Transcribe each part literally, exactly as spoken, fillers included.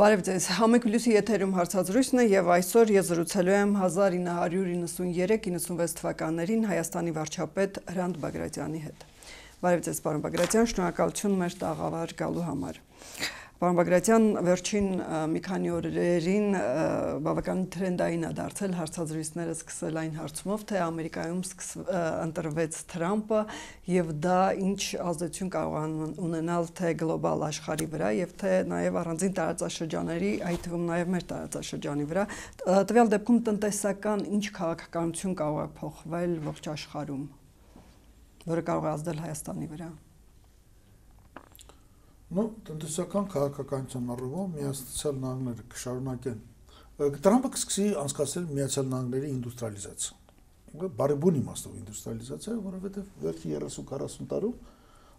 Բարև ձեզ, Համեկ Պլյուսի եթերում հարցազրույցն է եւ այսօր ես զրուցելու եմ հազար ինը հարյուր իննսունյերեք իննսունվեց թվականներին Հայաստանի վարչապետ Հրանտ Բագրատյանի հետ։ Բարև ձեզ, պարոն Բագրատյան, շնորհակալություն մեր տաղավար գալու համար։ Պարոն Բագրատյան, վերջին մի քանի օրերին բավականին թրենդային է դարձել հարցազրույցները սկսել այն հարցումով, թե Ամերիկայում ընտրվեց Թրամպը եւ դա ինչ ազդեցություն կարող է ունենալ թե գլոբալ աշխարհի վրա եւ թե նաեւ առանձին տարածաշրջանների, այդ թվում նաեւ մեր տարածաշրջանի վրա, տվյալ դեպքում տնտեսական ինչ քաղաքականություն կարող է փոխվել ողջ աշխարհում, որը կարող է ազդել Հայաստանի վրա։ Ну, տնտեսական քաղաքականության առումով Միացյալ Նահանգները կշարունակեն։ Տրամպը կսկսի անցկացնել Միացյալ Նահանգների ինդուստրիալիզացիա։ Բարեբուն իմաստով ինդուստրիալիզացիա, որովհետև վերջի երեսուն քառասուն տարում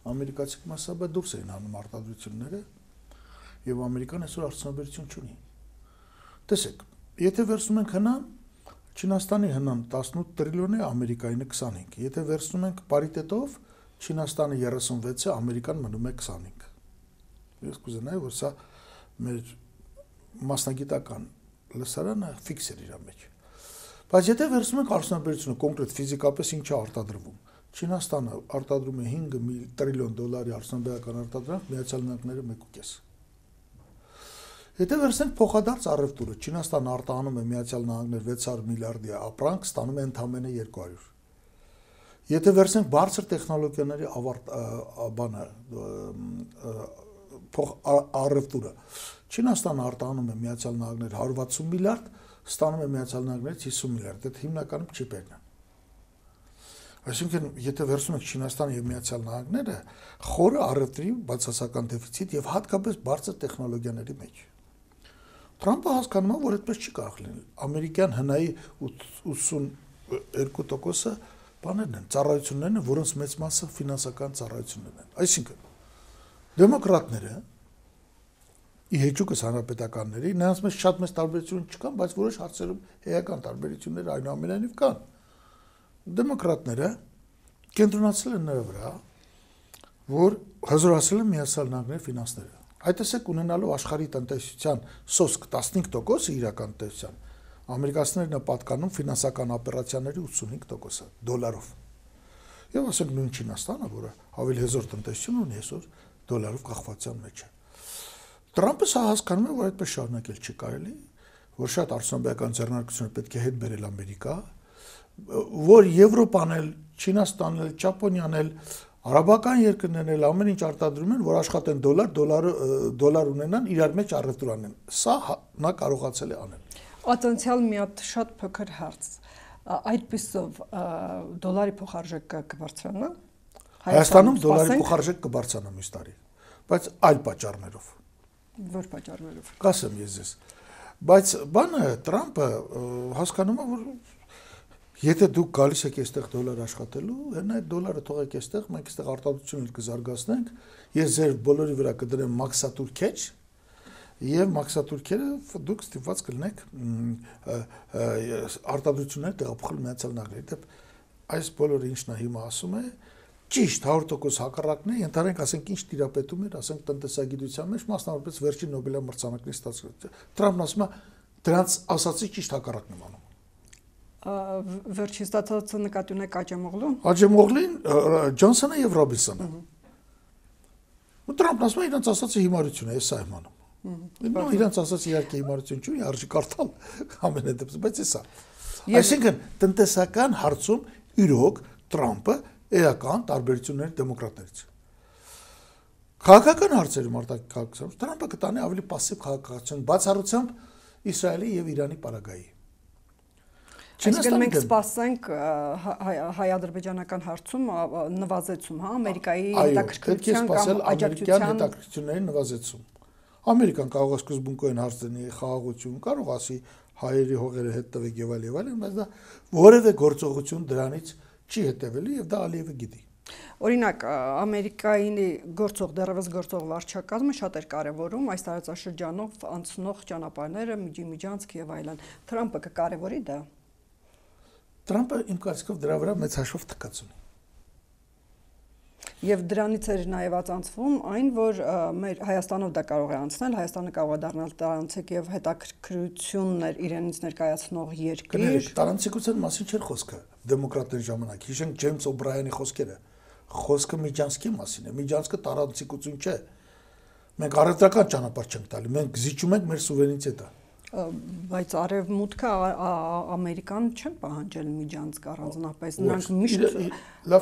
ամերիկացիք մասսաբը դուրս էին հանում արտադրությունները, եւ Ամերիկան այսօր արդյունաբերություն չունի։ Տեսեք, եթե վերցնում ենք հնան, Չինաստանի հնան տասնութ տրիլիոն է, Ամերիկայինը քսանհինգ։ Եթե վերցնում ենք պարիտետով, Չինաստանը երեսունվեց է, Ամերիկան մնում է քսանհինգ։ Ես կուզենայի, որ սա մեր մասնագիտական լսարանը ֆիքս էր իր մեջ։ Բայց եթե վերցնում ենք արդյունաբերությունը, կոնկրետ ֆիզիկապես ինչ է արտադրվում, Չինաստանը արտադրում է հինգ տրիլիոն դոլարի արդյունաբերական արտադրանք, Միացյալ Նահանգները մեկ ու կես։ Եթե վերցնենք փոխադարձ առևտուրը, Չինաստանը արտահանում է Միացյալ Նահանգներ վեց հարյուր միլիարդի ապրանք, ստանում է ընդամենը երկու հարյուր։ Եթե վերցնենք բարձր տեխնոլոգիաների ավարտ բանը փոխ առևտուրը, Չինաստանը արտահանում է Միացյալ Նահանգներ հարյուր վաթսուն միլիարդ, ստանում է Միացյալ Նահանգներից հիսուն միլիարդ, դա հիմնականում չիպերն են։ Այսինքն, եթե վերցնում ենք Չինաստանը եւ Միացյալ Նահանգները, խորը առևտրի բացասական դեֆիցիտ եւ հատկապես բարձր տեխնոլոգիաների մեջ։ Թրամպը հասկանում է, որ այդպես չի կարող լինել։ Ամերիկյան հնայի ութսունյոթ տոկոսը բաներն են, ծառայություններն են, որոնց մեծ մասը ֆինանսական ծառայություններն են։ Այսինքն, դեմոկրատները ի հեճուկս հանրապետականների, նրանց մեջ շատ մեծ տարբերություն չկան, բայց որոշ հարցերում էական տարբերություններ այնուամենայնիվ կան։ Դեմոկրատները կենտրոնացել են նրա վրա, որ հզորացել են Միացյալ Նահանգների ֆինանսները։ Այդ տեսեք ունենալով աշխարհի տնտեսության սոսկ տասնհինգ տոկոսը իրական տնտեսության, ամերիկացիներն են պատկանում ֆինանսական օպերացիաների ութսունհինգ տոկոսը դոլարով։ Եվ ասենք նույն Չինաստանը, որը ավելի հզոր տնտեսություն ունի այսօր, դոլարով կախվածության մեջ է։ Տրամպը սա հասկանում է, որ այդպես շարունակել չի կարելի, որ շատ արդյունաբերական ձեռնարկություններ պետք է հետ բերել Ամերիկա, որ Եվրոպան էլ, Չինաստանն էլ, Ճապոնիան էլ, արաբական երկրներն էլ ամեն ինչ արտադրում են, որ աշխատեն դոլար, դոլարը դոլար ունենան, իրար մեջ առևտուր անեն։ Սա նա կարողացել է անել։ Ատենցիալ մի հատ շատ փոքր հարց։ Այդպիսով դոլարի փոխարժեքը կբարձրանա։ Հայաստանում դոլարի փոխարժեքը կբարձրանա մյուս տարի, բայց այլ պատճառներով։ Որ պատճառներով։ Կասեմ ես ես։ Բայց բանը Տրամպը հասկանում է, որ եթե դուք գալիս եք այստեղ դոլար աշխատելու, հենա այդ դոլարը թողեք այստեղ, մենք այստեղ արտադրություններ կզարգացնենք, ես ձեր բոլորի վրա կդրեմ մաքսատուրքեջ, եւ մաքսատուրքերը դուք ստիպված կլինեք արտադրություններ տեղափոխել Միացյալ Նահանգների։ Դե այս բոլորը ինչն է հիմա ասում է, ճիշտ հարյուր տոկոս հակառակն է, ընդհանրենք ասենք ինչ տիրապետում էր, ասենք տնտեսագիտության մեջ, մասնավորապես վերջին Նոբելյան մրցանակների ստացած։ Տրամպն ասում է, դրանց ասացի ճիշտ հակառակն եմ անում։ Վերջին ստացածը նկատի ունեք Աջեմօղլուն։ Աջեմօղլին, Ջոնսոնը եւ Ռոբինսոնը։ Ու Տրամպն ասում է, իրանց ասացի հիմարություն է, ես սա եմ անում։ Նո, իրանց ասած իհարկե հիմարություն չունի, արժի կարդալ ամենը դեպս, բայց էսա։ Այսինքն տնտեսական հարցում իրոք Տրամպը էական տարբերություններ դեմոկրատներից։ Քաղաքական հարցերում արտաքին քաղաքացիություն Տրամպը կտանի ավելի պասիվ քաղաքացիություն, բացառությամբ Իսրայելի եւ Իրանի պարագայի։ Այսինքն մենք սպասենք հայ-ադրբեջանական հարցում նվազեցում, հա, Ամերիկայի հետաքրքրության կամ աջակցության հետաքրքրությունների նվազեցում։ Ամերիկան կարող է սկզբունքորեն հարց դնի խաղաղություն, կարող ասի հայերի հողերը հետ տվեք եւ այլ եւ այլ, բայց դա որևէ գործողություն դրանից չի հետևելու եւ դա Ալիևը գիտի։ Օրինակ, Ամերիկայի գործող դեռևս գործող վարչակազմը շատ էր կարևորում այս տարածաշրջանով անցնող ճանապարհները, միջիմիջանցք եւ այլն։ Թրամպը կկարևորի դա։ Տրամպը իմ կարծիքով դրա վրա մեծ հաշվով թքած ունի։ Եվ դրանից էր նաև ածանցվում այն, որ մեր Հայաստանով դա կարող է անցնել, Հայաստանը կարող է դառնալ տարանցիկ եւ հետաքրքրություններ իրենից ներկայացնող երկիր։ Տարանցիկության մասին չէր խոսքը դեմոկրատների ժամանակ։ Հիշենք Ջեյմս Օբրայանի խոսքերը։ Խոսքը Միջանցքի մասին է։ Միջանցքը տարանցիկություն չէ։ Մենք առևտրական ճանապարհ չենք տալի, մենք զիջում ենք մեր սուվերենիտետը։ Բայց արևմուտքը ամերիկան չեն պահանջել Միջանցք առանձնապես, նրանք միշտ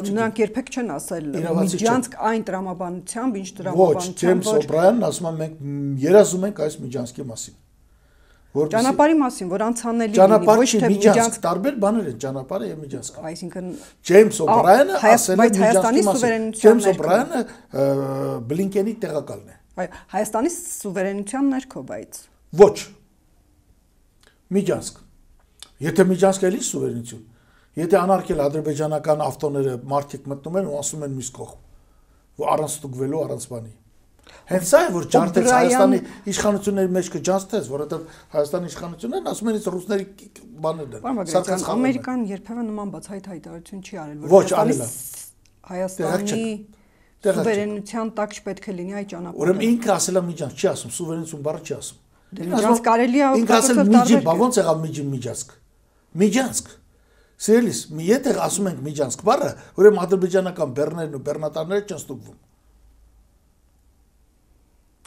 նրանք երբեք չեն ասել Միջանցք այն տրամաբանությամբ, ինչ տրամաբանությամբ։ Ոչ, Ջեյմս Օբրայանն ասում է մենք երազում ենք այս Միջանցքի մասին։ Ճանապարհի մասին, որ անցանելի լինի, ոչ թե Միջանցք, տարբեր բաներ են ճանապարհը եւ Միջանցքը։ Այսինքն Ջեյմս Օբրայանը ասել է Հայաստանի Ջեյմս Օբրայանը Բլինկենի տեղակալն է։ Այո, Հայաստանի սուվերենության ներքո, բայց ոչ Միջանցք։ Եթե Միջանցքը էլի սուվերենություն, եթե անարգել ադրբեջանական ավտոները մարդիկ մտնում են ու ասում են մյուս կողմ, որ առանց ստուգվելու, առանց բանի։ Հենց սա է, որ ջարդեց Հայաստանի իշխանությունների մեջ կջանցեց, որովհետև Հայաստանի իշխանություններն ասում են իսկ ռուսների բաներն են։ Սարգսյանը Ամերիկան երբևէ նման բացահայտ հայտարարություն չի արել, որ Հայաստանի սուվերենության տակ չպետք է լինի այդ ճանապարհը։ Ուրեմն ինքը ասել է Միջանցք, չի ասում, սուվերենություն բառը չի ասում։ Միջանցք կարելի է ինքը ասել միջի, բա ոնց եղավ միջի Միջանցք։ Միջանցք։ Սիրելիս, մի եթե ասում ենք Միջանցք բառը, ուրեմն ադրբեջանական բեռներն ու բեռնատարները չեն ստուգվում։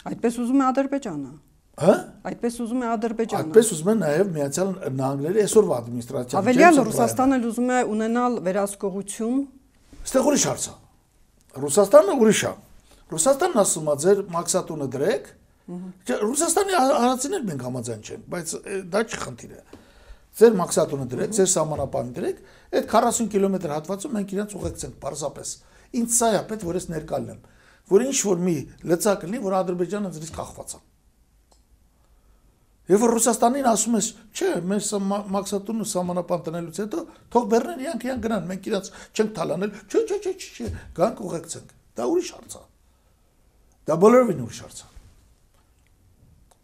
Այդպես ուզում է Ադրբեջանը։ Հա? Այդպես ուզում է Ադրբեջանը։ Այդպես ուզում է նաև Միացյալ Նահանգների այսօրվա ադմինիստրացիան։ Ավելյալ Ռուսաստանը ուզում է ունենալ վերահսկողություն։ Այստեղ ուրիշ հարց է։ Ռուսաստանը ուրիշ է։ Ռուսաստանն ասում է ձեր մաքսատունը դրեք։ Ռուսաստանի արածիներ մենք համաձայն չենք, բայց դա չի խնդիրը։ Ձեր մաքսատունը դրեք, ձեր սահմանապահին դրեք, այդ քառասուն կիլոմետր հատվածում մենք իրենց ուղեկցենք պարզապես։ Ինչ սա է պետք որ ես ներկալնեմ, որ ինչ որ մի լծակ լինի, որ Ադրբեջանը ձրից կախված է։ Եվ որ Ռուսաստանին ասում ես, չէ, մեր մաքսատունը սահմանապահ տնելուց հետո թող բեռներ իրանք իրանք գնան, մենք իրենց չենք թալանել, չէ, չէ, չէ, չէ, գանք ուղեկցենք։ Դա ուրիշ հարց է։ Դա բոլորովին ուրիշ հարց է։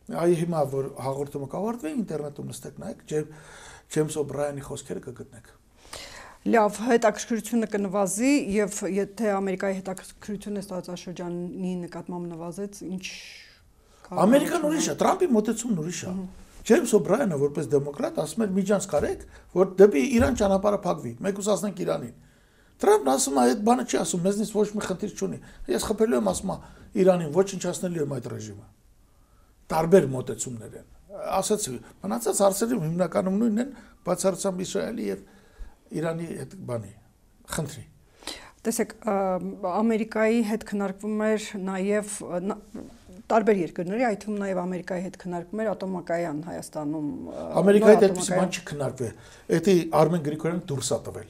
Այ հիմա որ հաղորդումը կավարտվի, ինտերնետում նստեք նայեք, Ջեյմս Օբրայանի խոսքերը կգտնեք։ Լավ, հետաքրքրությունը կնվազի եւ եթե Ամերիկայի հետաքրքրությունը տարածաշրջանի նկատմամբ նվազեց, ինչ Ամերիկան ուրիշ է, Տրամպի մոտեցումն ուրիշ է։ Ջեյմս Օբրայանը որպես դեմոկրատ ասում էր Միջանցք արեք, որ դեպի Իրան ճանապարհը փակվի, մենք ուսացնենք Իրանին։ Տրամպն ասում է, այդ բանը չի ասում, մեզնից ոչ մի խնդիր չունի։ Ես խփելու եմ ասում Իրանին, ոչնչացնելու եմ այդ ռեժիմը։ Տարբեր մոտեցումներ են։ Ասացի, մնացած հարցերում հիմնականում նույնն են, բացառությամբ Իսրայելի եւ Իրանի հետ բանի խնդրի։ Տեսեք, Ամերիկայի հետ քննարկվում էր նաեւ տարբեր երկրների, այդ թվում նաեւ Ամերիկայի հետ քննարկվում էր ատոմակայան Հայաստանում։ Ամերիկայի հետ այդպես բան չի քննարկվել։ Էդի Արմեն Գրիգորյանը դուրս է տվել։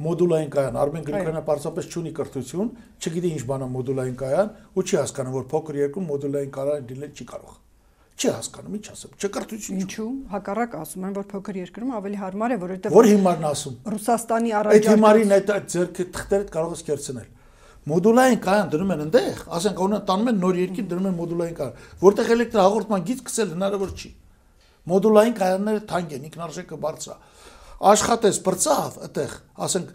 Մոդուլային կայան Արմեն Գրիգորյանը պարզապես չունի կրթություն, չգիտի ինչ բան է մոդուլային կայան ու չի հասկանում, որ փոքր երկրում մոդուլային կայան դինել չի կարող։ Չի հասկանում, ինչ ասեմ, չկրթություն։ Ինչու՞, հակառակ ասում են, որ փոքր երկրում ավելի հարմար է, որովհետեւ Որ հիմարն ասում։ Ռուսաստանի առաջ այդ հիմարին այդ ձերքը թղթերը կարող ես կերցնել։ Մոդուլային կայան դնում են այնտեղ, ասենք օրինակ տանում են նոր երկիր դնում են մոդուլային կայան, որտեղ էլեկտրահաղորդման գիծ գցել հնարավոր չի։ Մոդուլային կայանները թանկ են, ինքնարժեքը բարձր է։ Աշխատես բրծավ այդտեղ, ասենք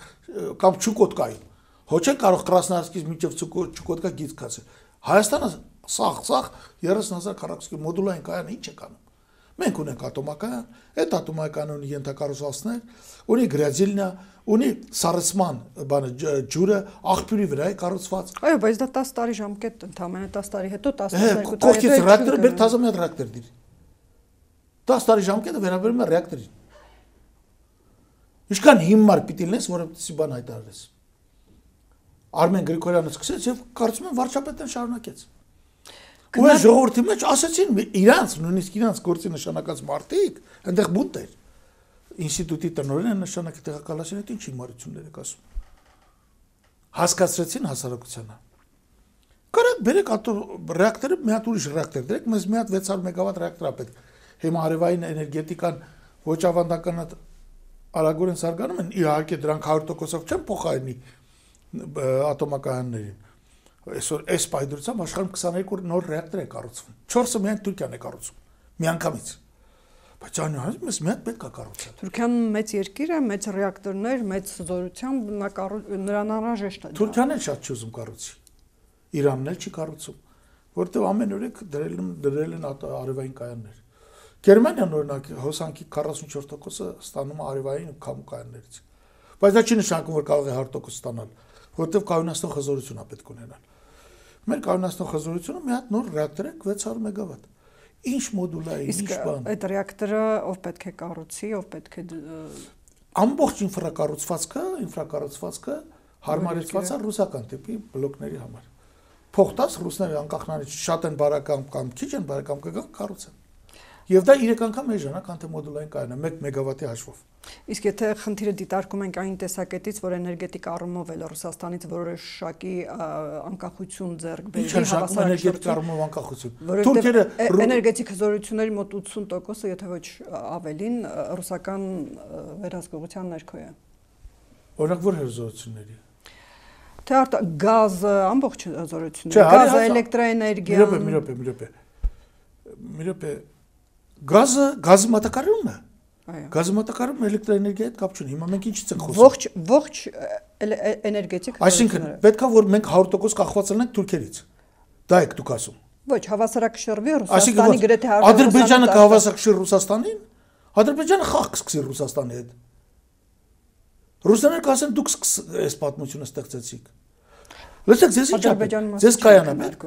կամ Չուկոտկայում։ Ոչ է կարող Կրասնոյարսկից մինչև Չուկոտկա գիծ գցել։ Հայաստանը սաղ, սաղ երեսուն հազար քառակուսի մոդուլային կայանը ինչ է կանում։ Մենք ունենք ատոմակայան, այդ ատոմակայանը ունի ենթակառուցվածքներ, ունի գրադիլնա, ունի սառեցման բանը ջուրը, աղբյուրի վրա է կառուցված։ Այո, բայց դա տասը տարի ժամկետ ընդամենը տասը տարի հետո տասնյոթ տարի հետո։ Կողքից ռեակտորը բեր թազամյա ռեակտոր դիր։ տասը տարի ժամկետը վերաբերում է ռեակտորին։ Ինչքան հիմար պիտի լինես, որովհետեւ բան հայտարարես։ Արմեն Գրիգորյանը սկսեց եւ կարծում եմ վարչապետն շարունակեց։ Ու այս ժողովրդի մեջ ասացին իրանց, նույնիսկ իրանց գործի նշանակած մարդիկ, այնտեղ բունտ էր։ Ինստիտուտի տնօրենը նշանակի տեղակալացին, այդ ինչ հիմարություններ եք ասում։ Հասկացրեցին հասարակությանը։ Կարեք բերեք ռեակտորը, մի հատ ուրիշ ռեակտոր դրեք, մեզ մի հատ վեց հարյուր մեգավատ ռեակտոր է պետք։ Հիմա արևային էներգետիկան ոչ ավանդական արագորեն զարգանում են, իհարկե դրանք հարյուր տոկոսով չեն փոխարինի ատոմակայաններին։ Այսօր այս պայդրությամբ աշխարհում քսաներկու նոր ռեակտոր է կառուցվում։ չորսը միայն Թուրքիան է կառուցում։ Միանգամից։ Բայց այնուհետև մեզ մի հատ պետք է կառուցել։ Թուրքիան մեծ երկիր է, մեծ ռեակտորներ, մեծ զորությամբ նրան անհրաժեշտ է։ Թուրքիան էլ շատ չի ուզում կառուցի։ Իրանն էլ չի կառուցում, որտեղ ամեն օրեք դրել են դրել են արևային կայաններ։ Գերմանիան օրինակ հոսանքի քառասունչորս տոկոսը ստանում է արևային քամու կայաններից։ Բայց դա չի նշանակում, որ կարող է հարյուր տոկոս ստանալ, որտեղ կայունացնող հզորություն է պետք ունենալ։ Մեր կայունացնող հզորությունը մի հատ նոր ռեակտոր է վեց հարյուր մեգավատ։ Ինչ մոդուլային, ինչ բան։ Այդ ռեակտորը ով պետք է կառուցի, ով պետք է ամբողջ ինֆրակառուցվածքը, ինֆրակառուցվածքը հարմարեցված է ռուսական տիպի բլոկների համար։ Փոխտած ռուսները անկախ նրանից շատ են բարեկամ կամ քիչ են բարեկամ կգան կառուցեն։ Եվ դա երեք անգամ էժան է, քան թե մոդուլային կայանը, մեկ մեգավատի հաշվով։ Իսկ եթե խնդիրը դիտարկում ենք այն տեսակետից, որ էներգետիկ առումով էլ Ռուսաստանից որոշակի անկախություն ձեռք բերի, էներգետիկ առումով անկախություն։ Թուրքերը էներգետիկ հզորությունների մոտ ութսուն տոկոսը, եթե ոչ ավելին, ռուսական վերահսկողության ներքո է։ Օրինակ որ հզորությունների։ Թե գազը, ամբողջ հզորությունները, գազը, էլեկտրաէներգիան։ Մի րոպե, մի րոպե, մի րոպե։ Գազը, գազի մատակարարումն է։ Այո։ Գազի մատակարարումը էլեկտրաէներգիայի հետ կապ չունի։ Հիմա մենք ինչից ենք խոսում։ Ողջ ողջ էներգետիկ Այսինքն պետքա որ մենք հարյուր տոկոս կախված լինենք թուրքերից։ Դա եք դուք ասում։ Ոչ, հավասարակշռվի Ռուսաստանի գրեթե Ադրբեջանը կհավասարակշռի Ռուսաստանին։ Ադրբեջանը խաղ կսկսի Ռուսաստանի հետ։ Ռուսները կասեն դուք այս պատմությունը ստեղծեցիք։ Լսեք, ձեզ ինչ է։ Ձեզ կայանա պետք։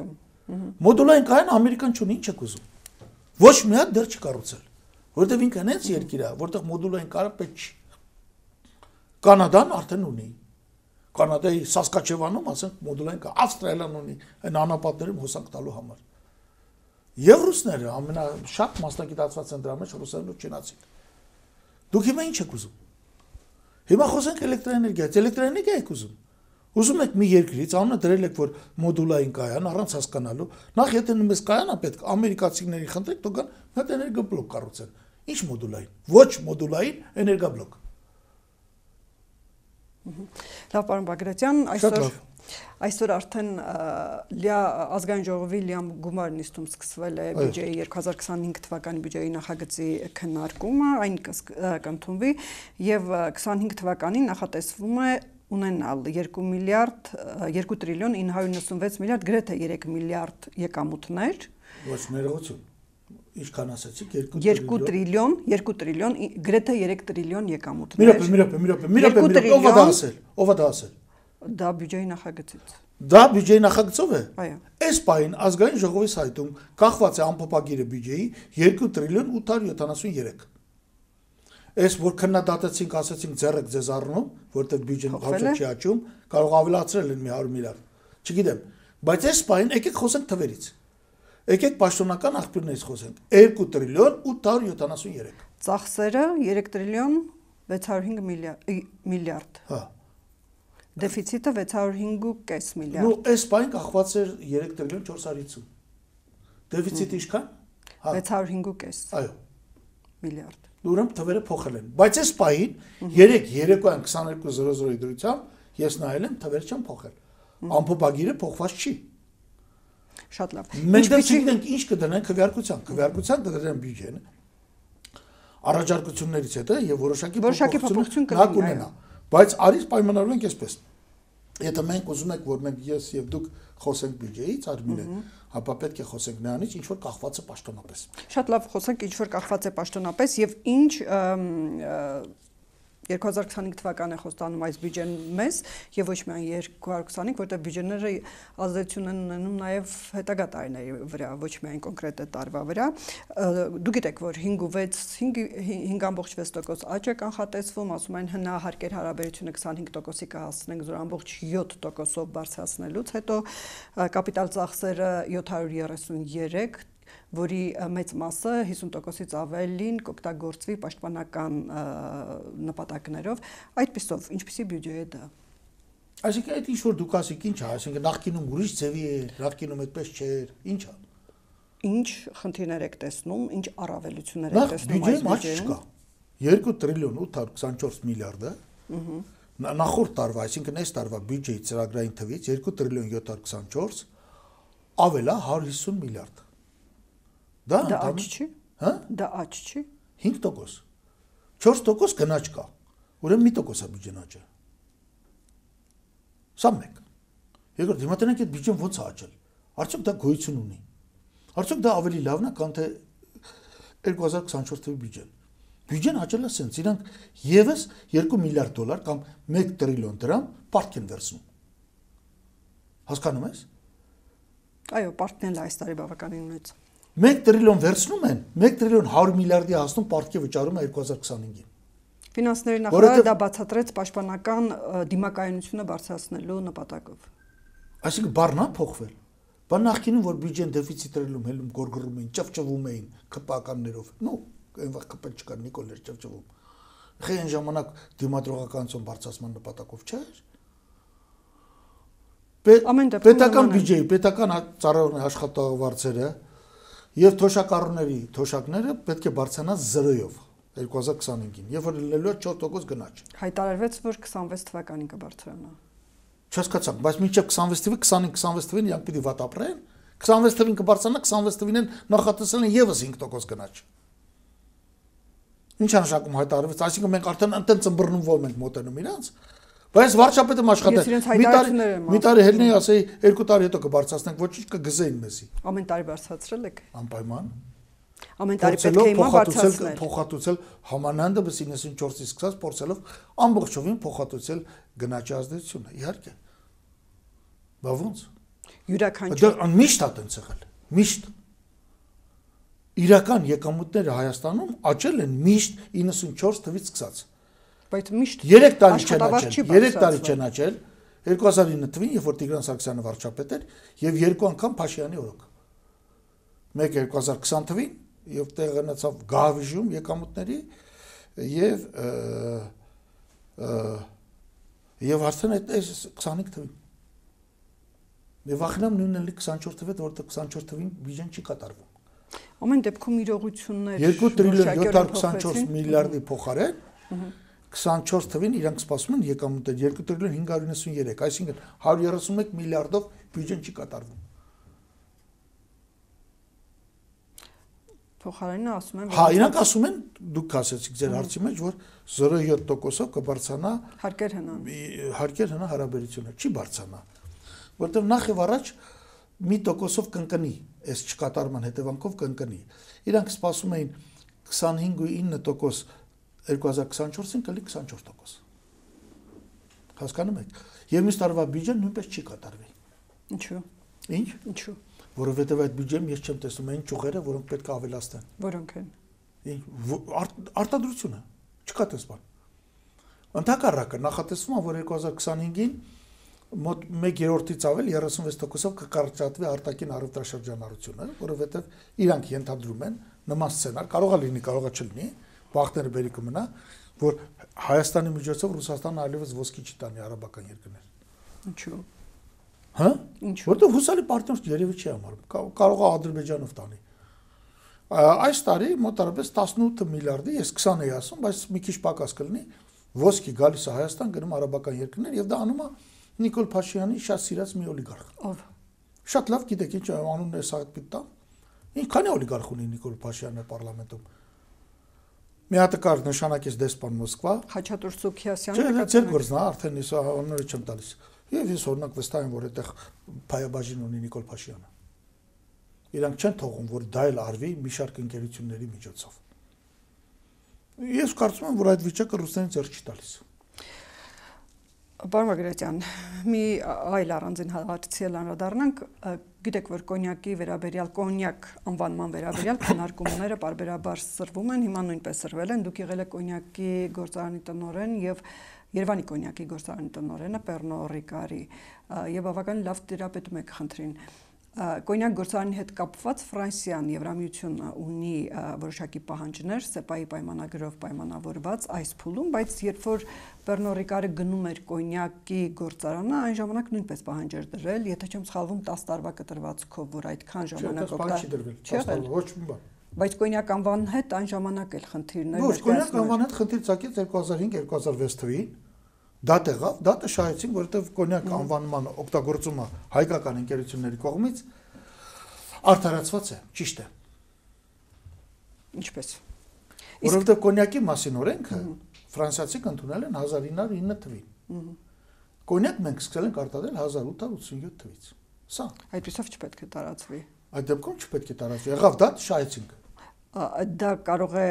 Մոդուլային կայան ամերիկան չունի, ինչ եք ուզում։ Ոչ մի հատ դեռ չի կառուցել, որտեղ ինքն հենց երկիր է, որտեղ մոդուլային կայանը պետք չի։ Կանադան արդեն ունի։ Կանադայի Սասկաչևանում, ասենք, մոդուլային կայան, Ավստրալիան ունի այն անապատներում հոսանք տալու համար։ Եվ ռուսները ամենաշատ մասնագիտացված են դրա մեջ ռուսերեն ու չինացին։ Դուք հիմա ինչ եք ուզում։ Հիմա խոսենք էլեկտրաէներգիայից, էլեկտրաէներգիա եք ուզում։ Ուզում եք մի երկրից անունը դրել եք, որ մոդուլային կայան առանց հասկանալու, նախ եթե նույնպես կայանա պետք ամերիկացիների խնդրեք, թող գան մի հատ էներգոբլոկ կառուցեն։ Ինչ մոդուլային։ Ոչ մոդուլային էներգոբլոկ։ Լավ, պարոն Բագրատյան, այսօր այսօր արդեն ազգային ժողովի լիամ գումար նիստում սկսվել է բյուջեի երկու հազար քսանհինգ թվականի բյուջեի նախագծի քննարկումը, այն կընդունվի եւ քսանհինգ թվականին նախատեսվում է ունենալ երկու միլիարդ երկու տրիլիոն ինը հարյուր նվսունվեց միլիարդ գրեթե երեք միլիարդ եկամուտներ։ Ոչ ներողություն։ Ինչքան ասացիք երկու տրիլիոն, երկու տրիլիոն, գրեթե երեք տրիլիոն եկամուտներ։ Մի րոպե, մի րոպե, մի րոպե, մի րոպե, ով է դա ասել։ Ով է դա ասել։ Դա բյուջեի նախագծից։ Դա բյուջեի նախագծով է։ Այո։ Այս պահին ազգային ժողովի սայթում կախված է ամփոփագիրը բյուջեի երկու տրիլիոն ութ հարյուր յոթանասուներեք։ Այս որ քննադատեցինք, ասացինք ձեռեք ձեզ առնում, որտեղ բյուջեն հաշվի չի աճում, կարող ավելացրել են մի հարյուր միլիարդ։ Չգիտեմ, բայց այս պահին եկեք խոսենք թվերից։ Եկեք պաշտոնական աղբյուրներից խոսենք։ երկու տրիլիոն ութ հարյուր յոթանասուներեք։ Ծախսերը երեք տրիլիոն վեց հարյուր հինգ միլիարդ։ Հա։ Դեֆիցիտը վեց հարյուր հինգ ու կես միլիարդ։ Նու այս պահին կախված էր երեք տրիլիոն չորս հարյուր հինգ։ Դեֆիցիտը ինչքան։ վեց հարյուր հինգ ու կես։ Այո։ Միլիարդ։ Ուրեմն թվերը փոխել են, բայց այս պահին երեք երեկոյան քսաներկու զրո զրոյի դրությամբ ես նայել եմ, թվերը չեն փոխել։ Ամփոփագիրը փոխված չի։ Շատ լավ։ Մենք դեռ ինչ կդնենք քվեարկության, քվեարկության կդրեն բյուջեն։ Առաջարկություններից հետո եւ որոշակի փոփոխություն կունենա։ Բայց արից պայմանավորենք այսպես։ Եթե մենք ուզում ենք, որ մենք ես եւ դուք խոսենք բյուջեից, Արմինե, ապա պետք է խոսենք նրանից, ինչ որ կախված է պաշտոնապես։ Շատ լավ, խոսենք ինչ որ կախված է պաշտոնապես եւ ինչ երկու հազար քսանհինգ թվականն է խոստանում այս բյուջեն մեզ եւ ոչ միայն երկու հազար քսանհինգ, որտեղ բյուջեները ազդեցություն են ունենում նաեւ հետագա տարիների վրա, ոչ միայն կոնկրետ տարվա վրա։ Դուք գիտեք, որ հինգ ու վեց, հինգ ամբողջ վեց տոկոս աճ է կանխատեսվում, ասում են հնահարկեր հարաբերությունը քսանհինգ տոկոսի կհասցնենք զոր ամբողջ յոթ տոկոսով բարձրացնելուց հետո կապիտալ ծախսերը յոթ հարյուր երեսուներեք, որի մեծ մասը հիսուն տոկոսից ավելին կօգտագործվի պաշտպանական նպատակներով, այդպիսով ինչպիսի բյուջե է դա։ Այսինքն այդ ինչ որ դուք ասիք ինչ է, այսինքն նախկինում ուրիշ ձևի է, նախկինում այդպես չէր, ինչ է։ Ինչ խնդիրներ եք տեսնում, ինչ առավելություններ եք տեսնում այս բյուջեում։ երկու տրիլիոն ութ հարյուր քսանչորս միլիարդը նախորդ տարվա, այսինքն այս տարվա բյուջեի ծրագրային թվից երկու տրիլիոն յոթ հարյուր քսանչորս ավելա հարյուր հիսուն միլիարդ։ Դա աճ չի։ Հա? Դա աճ չի։ հինգ տոկոս։ չորս տոկոս գնաճ կա։ Ուրեմն մի տոկոս է բյուջեն աճել։ Սա մեկ։ Երկրորդ, հիմա տենենք այդ բյուջեն ո՞նց է աճել։ Արդյոք դա գոյություն ունի։ Արդյոք դա ավելի լավն է, քան թե երկու հազար քսանչորս թվականի բյուջեն։ Բյուջեն աճել է սենց, իրանք եւս երկու միլիարդ դոլար կամ մեկ տրիլիոն դրամ պարտք են վերցնում։ Հասկանում ես։ Այո, պարտքն էլ այս տարի բավականին մեծ։ մեկ տրիլիոն վերցնում են, մեկ տրիլիոն հարյուր միլիարդի հասնում պարտքի վճարում է երկու հազար քսանհինգին։ Ֆինանսների նախարարը դա բացատրեց պաշտպանական դիմակայունությունը բարձրացնելու նպատակով։ Այսինքն բառն է փոխվել։ Բա նախկինում որ բյուջեն դեֆիցիտ էր հելում, գորգռում էին, ճվճվում էին քպականներով։ Նո, այն վաղ կպել չկար Նիկոլներ ճվճվում։ Խե այն ժամանակ դիմադրողականություն բարձրացման նպատակով չէր։ Պետական բյուջեի, պետական ծառայողների աշխատավարձերը եւ թոշակառուների թոշակները պետք է բարձրանան զրոյով երկու հազար քսանհինգին, երբ որ լինելու է չորս տոկոս գնաճ։ Հայտարարվեց, որ քսանվեց թվականին կբարձրանա։ Չհասկացա, բայց մինչև քսանվեց թվականի քսանհինգ քսանվեց թվականին իրանք պիտի վատ ապրեն, քսանվեց թվականին կբարձրանա, քսանվեց թվականին նախատեսել են եւս հինգ տոկոս գնաճ։ Ինչ անշակում հայտարարվեց, այսինքն մենք արդեն ընտեն ծմբռնումով ենք մոտենում իրանց, բայց վարչապետը աշխատել։ Մի տարի մի տարի հելնեի ասեի երկու տարի հետո կբարձրացնենք, ոչինչ կգզեին մեզի։ Ամեն տարի բարձրացրել եք։ Անպայման։ Ամեն տարի պետք է հիմա բարձրացնել։ Փոխհատուցել համանանդը իննսունչորսից սկսած փորձելով ամբողջովին փոխհատուցել գնաճի ազդեցությունը, իհարկե։ Բա ո՞նց։ Յուրաքանչյուր։ Դա միշտ է տենց եղել, միշտ։ Իրական եկամուտները Հայաստանում աճել են միշտ իննսունչորս թվականից սկսած։ Բայց միշտ երեք տարի չեն աճել, երեք տարի չեն աճել, երկու հազար ինը թվականին, երբ որ Տիգրան Սարգսյանը վարչապետ էր, եւ երկու անգամ Փաշինյանի օրոք։ Մեկ երկու հազար քսան թվականին, եւ տեղ գնացավ գահավիժում եկամուտների եւ եւ արդեն այդ քսանհինգ թվականին։ Եվ վախենամ նույնն էլի քսանչորս թվականին, որտեղ քսանչորս թվականին բյուջեն չի կատարվում։ Ամեն դեպքում իրողություններ երկու տրիլիոն յոթ հարյուր քսանչորս միլիարդի փոխարեն քսանչորս թվականին իրանք սպասում են եկամուտներ երկու տրիլիոն հինգ հարյուր իննսուններեք, այսինքն հարյուր երեսունմեկ միլիարդով բյուջեն չի կատարվում։ Փոխարենը ասում են, հա, իրանք ասում են, դուք ասեցիք ձեր հարցի մեջ, որ զրո յոթ տոկոսով կբարձրանա հարկեր հնան։ Հարկեր հնա հարաբերությունը չի բարձրանա, որտեղ նախ եւ առաջ մի տոկոսով կընկնի, այս չկատարման հետևանքով կընկնի։ Իրանք սպասում էին քսանհինգ ու ինը տոկոս երկու հազար քսանչորսին կլի քսանչորս տոկոս։ Հասկանում եք։ Եվ մյուս տարվա բյուջեն նույնպես չի կատարվի։ Ինչու։ Ինչ։ Ինչու։ Որովհետև այդ բյուջեն ես չեմ տեսնում այն ճյուղերը, որոնք պետք է ավելացնեն։ Որոնք են։ Արտադրությունը, չկա տես բան։ Ընդհակառակը նախատեսվում է, որ երկու հազար քսանհինգին մոտ մեկ երրորդից ավել երեսունվեց տոկոսով կկարճատվի արտաքին առևտրաշրջանառությունը, որովհետև իրանք ենթադրում են նման սցենար, կարող է լինի, կարող է չլինի, բախտերը բերի կմնա, որ Հայաստանի միջոցով Ռուսաստանը այլևս ոսկի չի տանի արաբական երկրներ։ Ինչու։ Հա՞։ Ինչու։ Որտեղ հուսալի պարտներ երևի չի համարում, կարող է Ադրբեջանով տանի։ Այս տարի մոտարապես տասնութ միլիարդի, ես քսան էի ասում, բայց մի քիչ պակաս կլինի, ոսկի գալիս է Հայաստան, գնում արաբական երկրներ եւ դա անում է Նիկոլ Փաշինյանի շատ սիրած մի օլիգարխ։ Ով։ Շատ լավ գիտեք ինչ անունն է սա պիտի տամ։ Ինչքան է օլիգարխ ունի Նիկոլ Փաշինյանը պարլամենտում։ Մի հատ կար նշանակեց դեսպան Մոսկվա։ Խաչատուր Սուքիասյանը Չէ, ձեր գործն է, արդեն ես անունը չեմ տալիս։ Եվ ես օրինակ վստահ եմ, որ այդտեղ փայաբաժին ունի Նիկոլ Փաշինյանը։ Իրանք չեն թողում, որ դա էլ արվի մի շարք ընկերությունների միջոցով։ Ես կարծում եմ, որ այդ վիճակը ռուսներին ձեռք չի տալիս։ Պարոն Բագրատյան, մի այլ առանձին հարցի անդրադառնանք, գիտեք, որ կոնյակի վերաբերյալ, կոնյակ անվանման վերաբերյալ քննարկումները պարբերաբար սրվում են, հիմա նույնպես սրվել են, դուք եղել եք կոնյակի գործարանի տնօրեն եւ Երևանի կոնյակի գործարանի տնօրենը Պեռնո Ռիկարի եւ բավականին լավ տիրապետում եք խնդրին։ Կոնյակ գործարանի հետ կապված Ֆրանսիան Եվրամիությունը ունի որոշակի պահանջներ սեպայի պայմանագրով պայմանավորված այս փուլում, բայց երբ որ Պեռնո Ռիկարը գնում էր կոնյակի գործարանը, այն ժամանակ նույնպես պահանջ էր դրել, եթե չեմ սխալվում դես տարվա կտրվածքով, որ այդքան ժամանակ օգտա։ Բայց կոնյակ անվան հետ այն ժամանակ էլ խնդիրներ Ոչ, կոնյակ անվան հետ խնդիր ցակեց երկու հազար հինգ երկու հազար վեց թվականին։ Դա տեղավ, դա շահեցին, որովհետև կոնյակ անվանման օգտագործումը հայկական ընկերությունների կողմից արդարացված է, ճիշտ է։ Ինչպես։ Որովհետև կոնյակի մասին օրենքը ֆրանսիացիք ընդունել են հազար ինը հարյուր ինը թվին։ Կոնյակ մենք սկսել ենք արտադրել հազար ութ հարյուր ութսունյոթ թվից։ Սա։ Այդպեսով չպետք է տարածվի։ Այդ դեպքում չպետք է տարածվի։ Եղավ դա շահեցինք։ Դա կարող է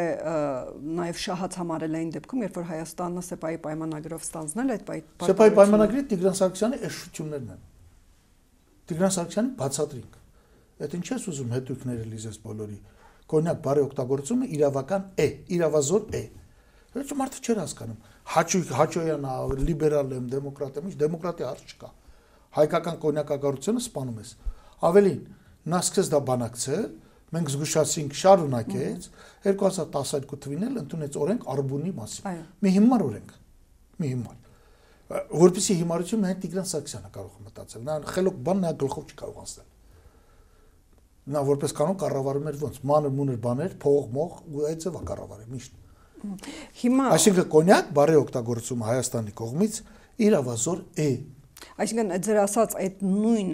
նաև շահած համարել այն դեպքում, երբ որ Հայաստանը սեպայի պայմանագրով ստանձնել այդ պայմանագրը։ Սեպայի պայմանագրի Տիգրան Սարգսյանի էշություններն են։ Տիգրան Սարգսյանի բացատրինք։ Այդ ինչ ես ուզում հետույքները լիզես բոլորի։ Կոնյակ բարի օգտագործումը իրավական է, իրավազոր է։ Ոչ մարդը չէր հասկանում։ Հաճույք, Հաճոյանա, լիբերալ եմ, դեմոկրատ եմ, ինչ դեմոկրատի հարց չկա։ Հայկական կոնյակագործությունը սպանում ես։ Ավելին, նա սկսեց դա բանակցել, մենք զգուշացինք, շարունակեց, երկու հազար տասնյոթ թվին էլ ընդունեց օրենք Արբունի մասին։ Մի հիմար օրենք, մի հիմար։ Որպեսզի հիմարությունը միայն Տիգրան Սարգսյանը կարող է մտածել։ Նա խելոք բան նա գլխով չի կարող անցնել։ Նա որպես կանոն կառավարում էր ոնց, մանր մուներ բաներ, փող, մող, ու այդ ձևա կառավարի միշտ։ Հիմա Այսինքն կոնյակ բարի օգտագործումը Հայաստանի կողմից իրավազոր է։ Այսինքն ձեր ասած այդ նույն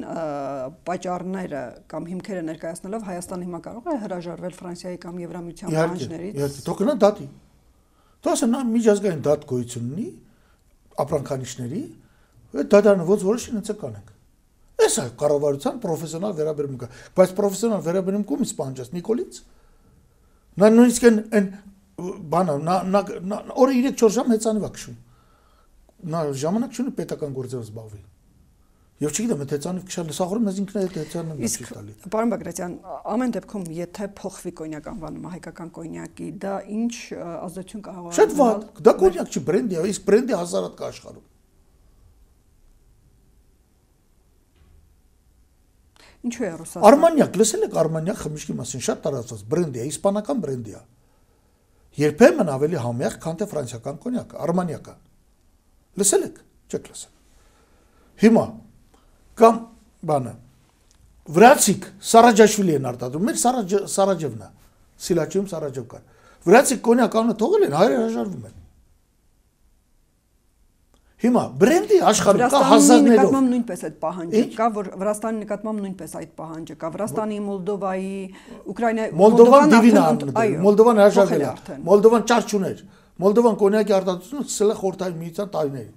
պատճառները կամ հիմքերը ներկայացնելով Հայաստանը հիմա կարող է հրաժարվել Ֆրանսիայի կամ Եվրամիության պահանջներից։ Իհարկե, թող գնա դատի։ Դա ասա նա միջազգային դատ գոյություն ունի ապրանքանիշների, այդ դատարանը ոնց որոշի ինձ կանենք։ Այս է կառավարության պրոֆեսիոնալ վերաբերմունքը, բայց պրոֆեսիոնալ վերաբերմունքը ումից պահանջած Նիկոլից։ Նա նույնիսկ այն բանը նա օրը երեք չորս ժամ հեծանիվ է քշում։ Նա ժամանակ չունի պետական գործերով զբաղվի։ Եվ չգիտեմ, այդ հեծանիվ քշալը սաղորում մեզ ինքն է այդ հեծանիվը չի տալի։ Պարոն Բագրատյան, ամեն դեպքում եթե փոխվի կոնյակ անվանումը հայկական կոնյակի, դա ինչ ազդեցություն կարող է։ Շատ վատ, դա կոնյակ չի, բրենդի է, իսկ բրենդի հազարատ կա աշխարհում։ Ինչու է Ռուսաստանը։ Արմանյակ, լսել եք Արմանյակ խմիչքի մասին, շատ տարածված բրենդի է, իսպանական բրենդի է։ Երբեմն ավելի համեղ, քան թե ֆրանսիական կոնյակը, Արմանյակը։ Լսել եք, չեք լսել։ Հիմա կամ բանը վրացիք Սարաջաշվիլի են արտադրում, մեր Սարաջևն է, Սիլաչիում Սարաջև կար։ Վրացիք կոնյակ անունը թողել են, հայերը հրաժարվում են։ Հիմա բրենդի աշխարհում կա հազարներով։ Նկատմամբ նույնպես այդ պահանջը կա, որ Վրաստանի նկատմամբ նույնպես այդ պահանջը կա։ Վրաստանի, Մոլդովայի, Ուկրաինայի, Մոլդովան դիվինան, Մոլդովան հրաժարվել է։ Մոլդովան ճար չուներ։ Մոլդովան կոնյակի արտադրությունը սկսել է Խորհրդային Միության տարիներին։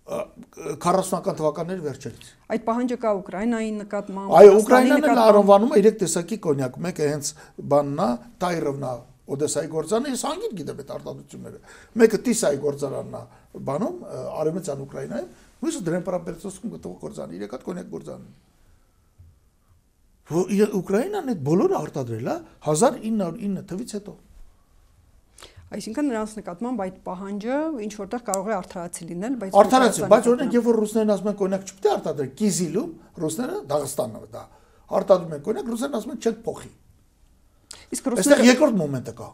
քառասունական թվականների վերջերից։ Այդ պահանջը կա Ուկրաինայի նկատմամբ։ Այո, Ուկրաինան էլ անվանում է երեք տեսակի կոնյակ, մեկը հենց բանն է, Տայրովն է, Օդեսայի գործարանը, ես անգիր գիտեմ այդ արտադրությունները։ Մեկը Տիսայի գործարանն է, բանում Արևմտյան Ուկրաինայում, մյուսը Դրեմպրապետսովսկում գտնվող գործարանը, երեք հատ կոնյակ գործարանն է։ Ուկրաինան այդ բոլորը արտադրել է հազար ինը հարյուր ինը թվից հետո։ Այսինքն նրանց նկատմամբ այդ պահանջը ինչ որտեղ կարող է արդարացի լինել, բայց արդարացի, բայց օրինակ երբ որ ռուսներն ասում են կոնյակ չպետք է արտադրել, Կիզիլում ռուսները Դաղստանն է դա արտադրում են կոնյակ, ռուսներն ասում են չենք փոխի։ Իսկ ռուսները երկրորդ մոմենտը կա։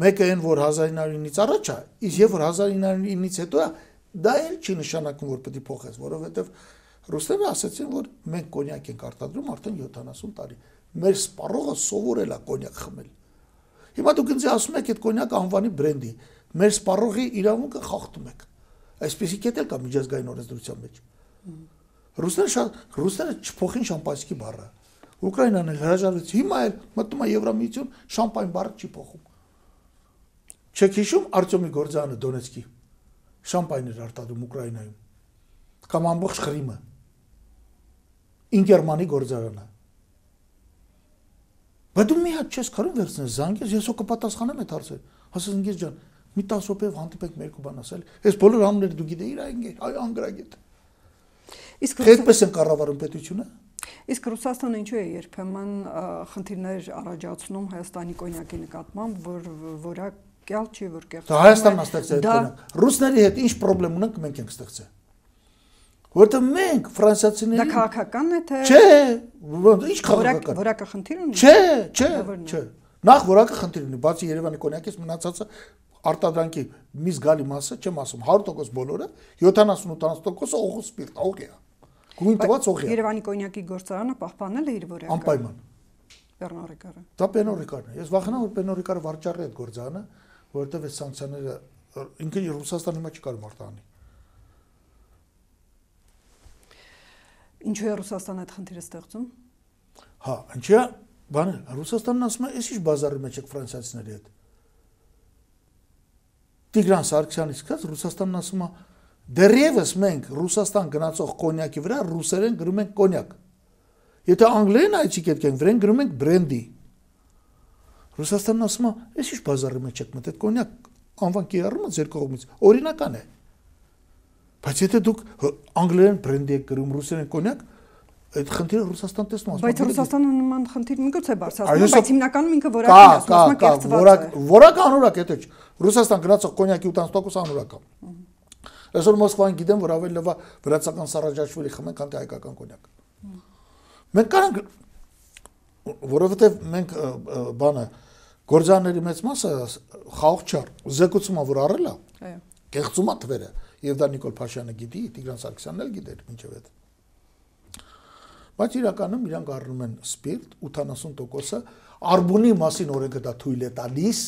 Մեկը այն որ հազար ինը հարյուր ինից առաջ է, իսկ երբ որ հազար ինը հարյուր ինից հետո է, դա էլ չի նշանակում որ պետք է փոխես, որովհետև ռուսները ասացին որ մենք կոնյակ ենք արտադրում արդեն յոթանասուն տարի։ Մեր սպառողը սովորել է կոնյակ խմել։ Հիմա դուք ինձ ասում եք այդ կոնյակ անվանի բրենդի, մեր սպառողի իրավունքը խախտում եք։ Այսպեսի կետ էլ կա միջազգային օրենսդրության մեջ։ Ռուսները շատ ռուսները չփոխին շամպանսկի բառը։ Ուկրաինան էլ հրաժարվեց, հիմա էլ մտնում է Եվրամիություն, շամպայն բառը չի փոխում։ Չեք հիշում Արտյոմի Գորձյանը Դոնեցկի շամպայն էր արտադրում Ուկրաինայում։ Կամ ամբողջ Ղրիմը։ Ինկերմանի գործարանը։ Բայց դու մի հատ չես կարող վերցնել զանգես, ես ու կպատասխանեմ այդ հարցը։ Ասես ինգես ջան, մի տասը րոպեով հանդիպենք մերկու բան ասել։ Այս բոլոր անունները դու գիտեիր, այ անգրագետ։ Իսկ այդպես են կառավարում պետությունը։ Իսկ Ռուսաստանը ինչու է երբեմն խնդիրներ առաջացնում Հայաստանի կոնյակի նկատմամբ, որ որակյալ չի, որ կեղծ։ Հայաստանն է ստեղծել այդ կոնյակ։ Ռուսների հետ ինչ խնդրեմ ունենք, մենք ենք ստեղծել։ Որտեղ մենք ֆրանսիացիների Դա քաղաքական է թե։ Չէ, ինչ քաղաքական։ Որակը խնդիր ունի։ Չէ, չէ, չէ։ Նախ որակը խնդիր ունի, բացի Երևանի կոնյակից մնացածը արտադրանքի մի զգալի մասը, չեմ ասում հարյուր տոկոս բոլորը, յոթանասուն-ութանասուն տոկոսը օղու սպիրտ, օղի է։ Գույն տված օղի է։ Երևանի կոնյակի գործարանը պահպանել է իր որակը։ Անպայման։ Պերնո Ռիկարը։ Դա Պերնո Ռիկարն է։ Ես վախենամ որ Պերնո Ռիկարը վաճառի այդ գործարանը, որովհետև այս սանկցիաները ինքը Ռուսաստանը հիմա չի կարող արտահանի։ Ինչու է Ռուսաստանը այդ խնդիրը ստեղծում։ Հա, ինչի՞ բանը Ռուսաստանն ասում է, «Էս ինչ բազարի մեջ եք ֆրանսիացիների հետ»։ Տիգրան Սարգսյանի սկաց Ռուսաստանն ասում է, «Դեռևս մենք Ռուսաստան գնացող կոնյակի վրա ռուսերեն գրում ենք կոնյակ։ Եթե անգլերեն այցի կետք ենք վրեն գրում ենք բրենդի»։ Ռուսաստանն ասում է, «Էս ինչ բազարի մեջ եք մտել, կոնյակ անվան կիրառումը ձեր կողմից օրինական է։ Բայց եթե դուք անգլերեն բրենդի եք գրում ռուսերեն կոնյակ, այդ խնդիրը Ռուսաստան տեսնում ասում է։ Բայց Ռուսաստանը նման խնդիր միգուցե բարձրացնում, Այո, բայց հիմնականում ինքը որակին կա, ասում է, կա, կա, կեղծված որակ, է։ որակ անորակ է, թե Ռուսաստան գնացող կոնյակի ութանասուն տոկոս անորակ է։ Այսօր Մոսկվային գիտեմ, որ ավելի լավ է վրացական Սարաջաշվիլի խմեն, քան թե հայկական կոնյակ։ Մենք կարանք, որովհետև մենք բանը գործարանների մեծ մասը խաղող չար, զեկուցում է, որ առել է, Այո։ կեղծում է թվերը, եւ դա Նիկոլ Փաշյանը գիտի, Տիգրան Սարգսյանն էլ գիտեր մինչև այդ։ Բայց իրականում իրանք առնում են սպիրտ ութանասուն տոկոսը, արբունի մասին օրենքը դա թույլ է տալիս,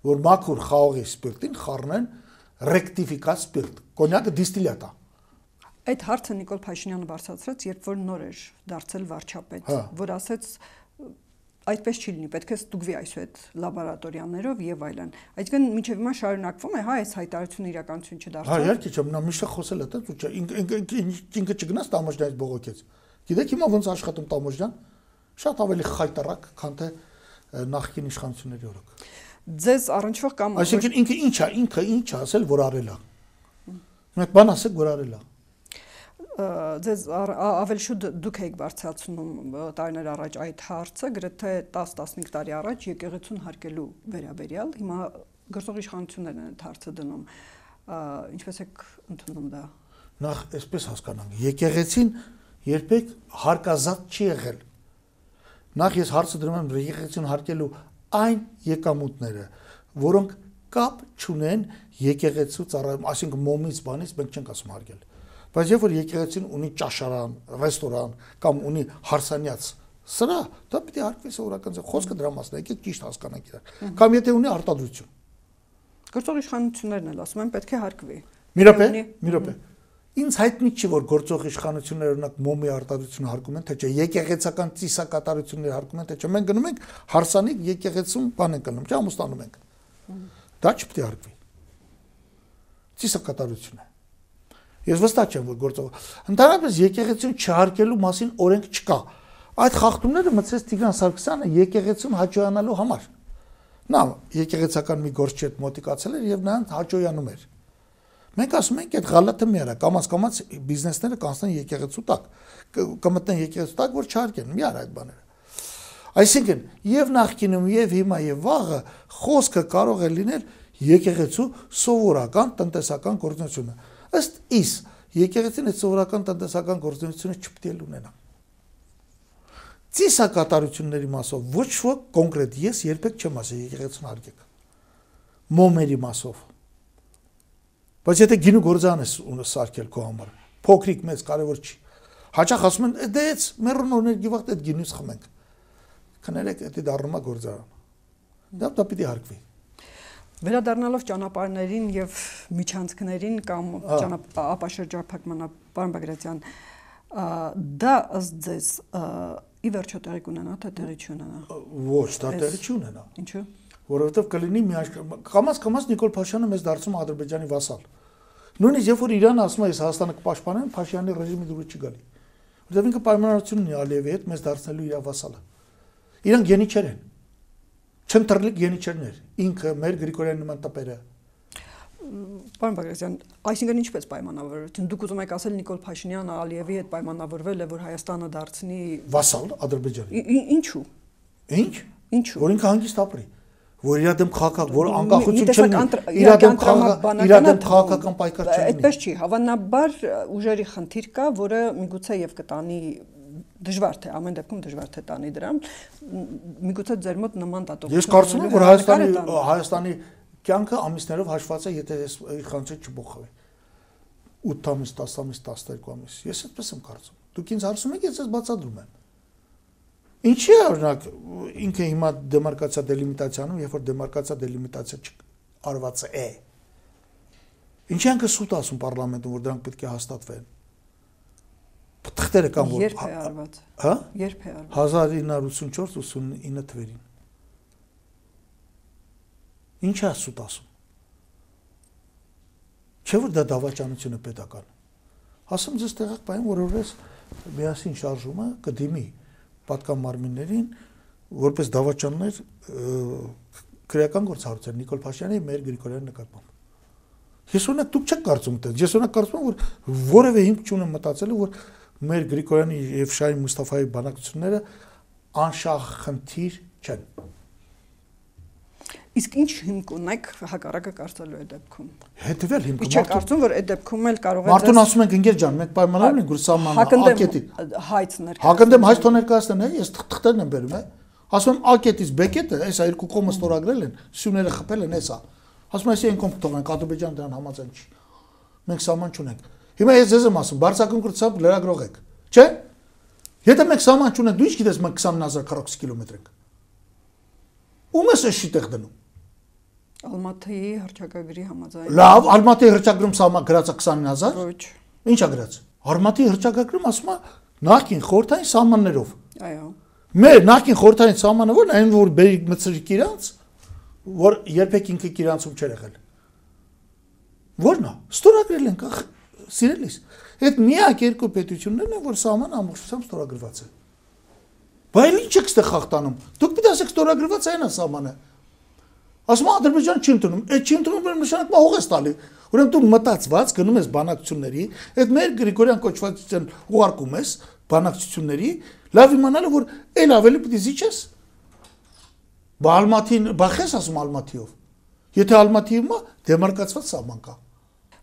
որ մաքուր խաղողի սպիրտին խառնեն ռեկտիֆիկատ սպիրտ, կոնյակը դիստիլյատ է։ Այդ հարցը Նիկոլ Փաշինյանը բարձրացրեց, երբ որ նոր էր դարձել վարչապետ, որ ասեց այդպես չի լինի, պետք է ստուգվի այսուհետ լաբորատորիաներով եւ այլն։ Այսինքն մինչեւ հիմա շարունակվում է, հա, այս հայտարարությունը իրականություն չդարձավ։ Հա, իհարկե չէ, նա միշտ խոսել է, դա չէ, ինքը չգնաց Տամոջյանից բողոքեց։ Գիտեք հիմա ոնց աշխատում Տամոջյան, շատ ավելի խայտարակ, քան թե նախկին իշխանությունների օրոք։ Ձեզ առնչվող կամ Այսինքն ինքը ինչ է, ինքը ինչ է ասել, որ արել է։ Մեկ բան ասեք, որ արել է։ Ձեզ ավելի շուտ դուք եք բարձրացնում տարիներ առաջ այդ հարցը, գրեթե տասը տասնհինգ տարի առաջ եկեղեցուն հարկելու վերաբերյալ, հիմա գործող իշխանություններն են այդ հարցը դնում։ Ինչպես եք ընդունում դա։ Նախ այսպես հասկանանք, եկեղեցին երբեք հարկազատ չի եղել։ Նախ ես հարցը դնում եմ եկեղեցին հարկելու այն եկամուտները, որոնք կապ չունեն եկեղեցու ծառայում, այսինքն մոմից բանից մենք չենք ասում հարկել։ Բայց երբ որ եկեղեցին ունի ճաշարան, ռեստորան կամ ունի հարսանյաց սրա, դա պիտի հարկվի սովորական ձև, խոսքը դրա մասն է, եկեք ճիշտ հասկանանք իրար։ Կամ եթե ունի արտադրություն։ Գործող իշխանություններն էլ ասում են պետք է հարկվի։ Մի րոպե, մի րոպե։ Ինձ հայտնի չի, որ գործող իշխանությունները օրինակ մոմի արտադրությունը հարկում են, թե չէ, եկեղեցական ծիսակատարությունները հարկում են, թե չէ։ Մենք գնում ենք հարսանիք եկեղեցում բան ենք գնում, չէ, ամուսնանում ենք։ Դա չպետք է հարկվի։ Ծիսակատարություն է։ Ես վստահ չեմ, որ գործող ընդհանրապես եկեղեցին չհարկելու մասին օրենք չկա։ Այդ խախտումները մտցրեց Տիգրան Սարգսյանը եկեղեցուն հաճոյանալու համար։ Նա եկեղեցական մի գործ չէ մոտիկացել էր եւ նրան հաճոյանում էր։ Մենք ասում ենք այդ գալաթը մի արա, կամաց-կամաց բիզնեսները կանցնեն եկեղեցու տակ, կմտնեն եկեղեցու տակ, որ չհարկեն, մի արա այդ բաները։ Այսինքն, եւ նախկինում, եւ հիմա, եւ վաղը խոսքը կարող է լինել եկեղեցու սովորական տնտեսական գործունեությունը։ Ըստ իս, եկեղեցին այդ սովորական տնտեսական գործունեությունը չպետք է ունենա։ Ծիսակատարությունների մասով ոչ ոք կոնկրետ ես երբեք չեմ ասել եկեղեցուն հարկեք։ Մոմերի մասով։ Բայց եթե գինու գործան ես սարքել քո համար, փոքրիկ մեծ կարևոր չի։ Հաճախ ասում են, դե էս մեռուն օրներ գիվախտ այդ գինուց խմենք։ Քներեք, դա դառնում է գործարան։ Դա դա պիտի հարկվի։ Վերադառնալով ճանապարհներին եւ միջանցքներին կամ ապաշրջափակմանը, պարոն Բագրատյան, դա ըստ ձեզ ի վերջո տեղի կունենա, թե տեղի չունենա։ Ոչ, դա տեղի չունենա։ Ինչու՞։ Որովհետև կլինի միաժամանակ կամաց-կամաց Նիկոլ Փաշյանը մեզ դարձում Ադրբեջանի վասալ։ Նույնիսկ երբ որ Իրանը ասում է, ես Հայաստանը կպաշտպանեմ, Փաշյանի ռեժիմի դուրս չի գալի։ Որովհետև ինքը պայմանավորություն ունի Ալիևի հետ մեզ դարձնելու իր վասալը։ Իրանք գենիչեր են։ Չընտրլիկ գենիչերներ։ Ինքը մեր Գրիգորյան նման տպերը։ Պարոն Բագրատյան, այսինքն ինչպես պայմանավորություն։ Դուք ուզում եք ասել Նիկոլ Փաշինյանը Ալիևի հետ պայմանավորվել է, որ Հայաստանը դարձնի վասալ Ադրբեջանի։ Ինչու։ Ինչ։ Ինչու։ Որ ինքը հանգիստ ապրի։ Որ իր դեմ քաղաքական, որ անկախություն չլինի, իր դեմ քաղաքական, իր դեմ քաղաքական պայքար չլինի։ Այդպես չի, հավանաբար ուժերի խնդիր կա, որը միգուցե եւ կտանի դժվար թե ամեն դեպքում դժվար թե տանի դրան, միգուցե ձեր մոտ նման դատողություն։ Ես կարծում եմ, որ Հայաստանի Հայաստանի կյանքը ամիսներով հաշված է, եթե այս իշխանությունը չփոխվի։ ութ ամիս, տասը ամիս, տասներկու ամիս։ Ես այդպես եմ կարծում։ Դուք ինձ հարցում եք, ես ես բացատրում եմ։ Ինչի՞ է օրինակ ինքը հիմա դեմարկացիա դելիմիտացիանում, երբ որ դեմարկացիա դելիմիտացիա արված է։ Ինչի՞ անքը սուտ ասում պարլամենտում, որ դրանք պետք է հաստատվեն։ թղթերը կան որ Երբ է արված։ Հա? Երբ է արված։ հազար ինը հարյուր ութսունչորդ ութսունինը թվերին։ Ինչ է սուտ ասում։ Չէ՞ որ դա դավաճանություն է պետական։ Ասում ձեզ տեղակ բան որովհետեւ միասին շարժումը կդիմի պատկան մարմիններին որպես դավաճաններ քրեական գործառույթ Նիկոլ Փաշինյանի եւ Մհեր Գրիգորյանի նկատմամբ։ Ես ունեմ դուք չեք կարծում թե ես ունեմ կարծում որ որևէ հիմք չունեմ մտածելու որ Մհեր Գրիգորյանի եւ Շահին Մուստաֆայի բանակցությունները անշահախնդիր չեն։ Իսկ ինչ հիմք ունեք հակառակը կարծելու այդ դեպքում։ Հետևյալ հիմքը։ Ինչ եք կարծում որ այդ դեպքում էլ կարող է Մարդուն ասում ենք ընկեր ջան, մենք պայմանավորել ենք որ սահմանը ակետի։ Հայց ներկայացնեն։ Հակնդեմ հայց թող ներկայացնեն, ես թղթերն եմ բերում, է։ Ասում եմ ակետից բեկետը, այսա երկու կողմը ստորագրել են, սյուները խփել են, էսա։ Ասում եմ, այսինքն կողմ թողնենք, Ադրբեջանը դրան համաձայն չի։ Մենք սահման չունենք։ Հիմա ես ձեզ եմ ասում, բարձրակարգ կրթությամբ լրագրող եք, չէ՞։ Եթե մենք սահման չունենք, դու ինչ գիտես մենք քսան հազար քառակուսի կիլոմետր ենք։ Ում ես էս շիտեղ դնում։ Ալմատիի հռչակագրի համաձայն։ Լավ, Ալմատիի հռչակագրում սահման գրած է քսան հազար։ Ոչ։ Ինչ է գրած։ Ալմատիի հռչակագրում ասում է նախքին խորհրդային սահմաններով։ Այո։ Մեր նախքին խորհրդային սահմանը ո՞րն է, այն որ բերի մցրիկ իրանց, որ երբեք ինքը իրանցում չէր եղել։ Ո՞րն է։ Ստորագրել ենք, սիրելիս։ Այդ միակ երկու պետություններն են, որ սահմանը ամբողջությամբ ստորագրված է։ Բայց ինչ եք ստեղ խախտանում։ Դուք պիտի ասեք ստորագրված այն է սահմանը։ Ասում Ադրբեջանը չի ընդունում, այդ չի ընդունում նշանակում հող ես տալի։ Ուրեմն դու մտածված գնում ես բանակցությունների, այդ մեր Գրիգորյան կոչվածության ուղարկում ես բանակցությունների, լավ իմանալը որ այլ ավելի պիտի զիջես։ Բալմատին, բախես ասում Ալմատիով։ Եթե Ալմատիում է դեմարկացված սահման կա։